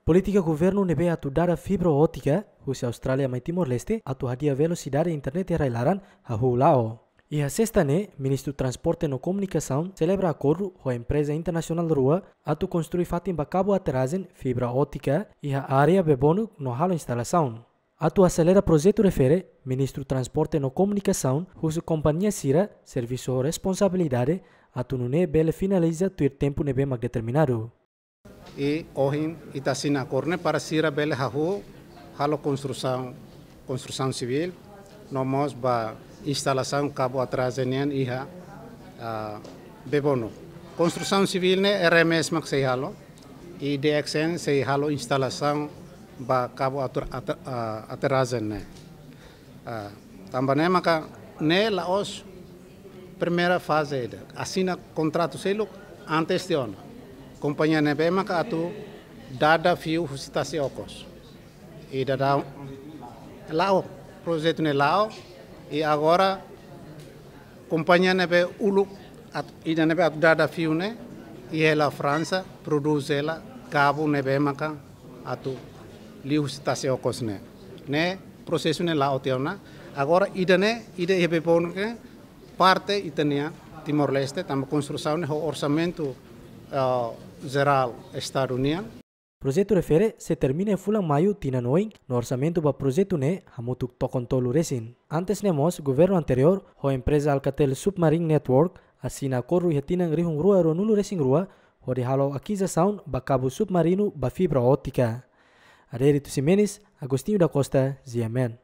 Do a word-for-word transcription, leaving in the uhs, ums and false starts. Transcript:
Polítika governu ne'ebé atu dada fibra ótika husi Austrália mai Timor-Leste atu hadi'a velosidade internet iha rai-laran hahú la'o. Iha sesta ne'e, Ministru Transporte no Komunikasaun selebra akordu ho empreza internasionál rua atu konstrui fatin ba kabu aterrajen fibra ótika iha área Bebonuk no halo instalasaun. Atu aselera projetu refere, Ministru Transporte no Komunikasaun husu kompañia sira servisu ho responsabilidade atu nune'e bele finaliza tuir tempu ne'ebé mak determinadu. I ohin ita asina akordu ne'e para sira bele hahú halo konstrusaun, konstrusaun sivíl, no mós ba instalasaun kabu aterrajen nian iha, ah, Bebonuk. Konstrusaun sivíl ne'e R M S mak sei halo, i D X N sei halo instalasaun ba kabu ater-, ater-, ah, aterrajen ne'e. Ah, tanba ne'e maka ne'e la'ós primeira faze ida. Asina kontratu seluk antes tiha ona. Kompañia ne'ebé maka atu dada fiu husi Tasi Okos. I dada la'o, projetu ne'e la'o, i agora kompañia ne'ebé uluk, at-, ida ne'ebé atu dada fiu ne'e, iha hela Fransa, prodús hela kabu ne'ebé maka atu liu husi Tasi Okos ne'e. Ne'e prosesu ne'e la'o tiha ona. Agora ida ne'e, ida iha Bebonuk ne'e, parte ita-nia Timor-Leste, tanba konstrusaun ne'e ho orsamentu, eh, jerál Estadu nian. Projetu refere sei termina iha fulan Maiu tinan oin, no orsamentu ba projetu ne'e hamutuk tokon tolu resin. Antes ne'e mós, governu anteriór ho empreza Alcatel Submarine Network asina akordu iha tinan rihun rua ruanulu resin rua, hodi halo akizisaun ba kabu submarinu ba fibra ótika. Adérito Ximenes, Agostinho da Costa, G M N.